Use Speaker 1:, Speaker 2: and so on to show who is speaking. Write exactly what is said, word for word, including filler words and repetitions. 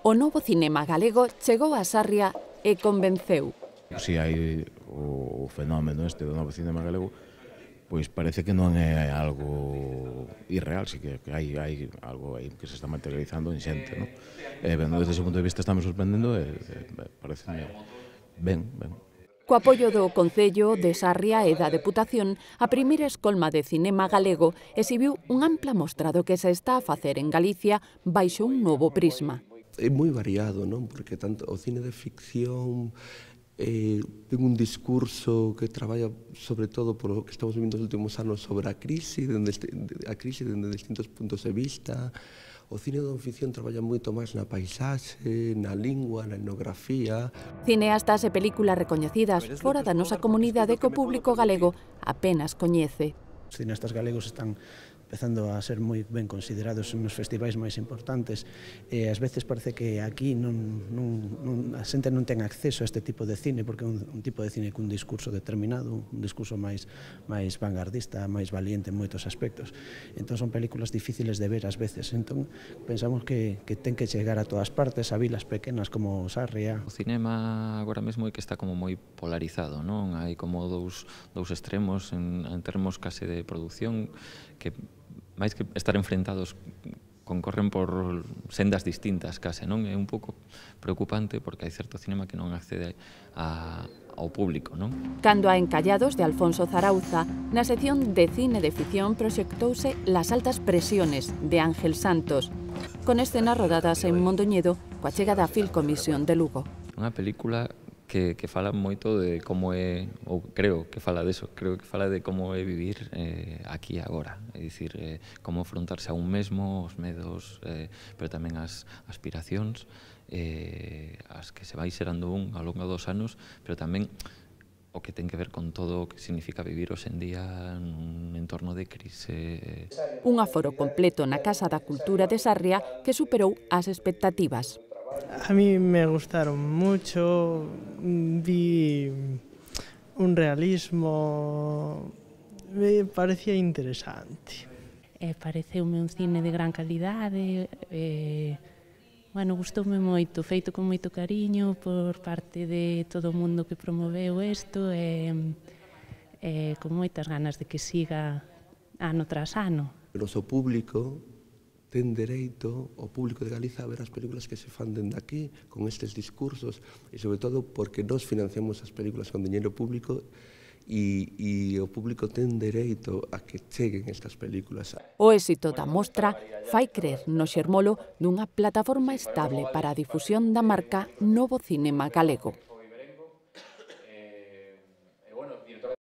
Speaker 1: O novo cinema galego chegou a Sarria e convenceu.
Speaker 2: Si hai o fenómeno este do novo cinema galego, pois parece que non é algo irreal, si que hai, hai algo aí que se está materializando en xente, non? E, ben, desde ese punto de vista estamos sorprendendo e, e parece ben, ben.
Speaker 1: Co apoio do Concello de Sarria e da Deputación, a primeira escolma de cinema galego exhibiu unha ampla mostra do que se está a facer en Galicia baixo un novo prisma.
Speaker 3: É moi variado, non? Porque tanto o cine de ficción eh, ten un discurso que traballa sobre todo por o que estamos vivendo nos últimos anos sobre a crise, dende a crise dende distintos puntos de vista. O cine de non ficción traballa moito máis na paisaxe, na lingua, na etnografía.
Speaker 1: Cineastas e películas recoñecidas fora da nosa comunidade que o público galego apenas coñece.
Speaker 4: Os cineastas galegos están empezando a ser moi ben considerados nos festivais máis importantes e ás veces parece que aquí non, non, non, a xente non ten acceso a este tipo de cine porque é un, un tipo de cine cun discurso determinado, un discurso máis, máis vanguardista, máis valiente en moitos aspectos. Entón son películas difíciles de ver ás veces, entón pensamos que, que ten que chegar a todas partes, a vilas pequenas como Sarria.
Speaker 5: O cinema agora mesmo é que está como moi polarizado, non? Hai como dous, dous extremos en, en termos case de produción que máis que estar enfrentados concorren por sendas distintas case, non? É un pouco preocupante porque hai certo cinema que non accede a, ao público, non?
Speaker 1: Cando a Encallados de Alfonso Zarauza, na sección de cine de ficción proxectouse Las altas presiones de Ángel Santos, con escenas rodadas en Mondoñedo coa chega da Filcomisión de Lugo.
Speaker 5: Unha película que, que fala moito de como é, ou creo que fala deso, creo que fala de como é vivir eh, aquí e agora, é dicir, eh, como afrontarse a un mesmo, os medos, eh, pero tamén as aspiracións, eh, as que se vai xerando un ao longo dos anos, pero tamén o que ten que ver con todo o que significa vivir hoxe en día nun entorno de crise.
Speaker 1: Un aforo completo na Casa da Cultura de Sarria que superou as expectativas.
Speaker 6: A mí me gustaron mucho, vi un realismo, me parecía interesante.
Speaker 7: Eh, pareceume un cine de gran calidade, eh, bueno, gustoume moito, feito con moito cariño por parte de todo o mundo que promoveu isto e eh, con moitas ganas de que siga ano tras ano.
Speaker 3: O noso público ten dereito o público de Galiza a ver as películas que se fan dende aquí, con estes discursos, e sobre todo porque nós financiamos as películas con diñeiro público e, e o público ten dereito a que cheguen estas películas.
Speaker 1: O éxito da mostra fai crer no xermolo dunha plataforma estable para a difusión da marca Novo Cinema Galego.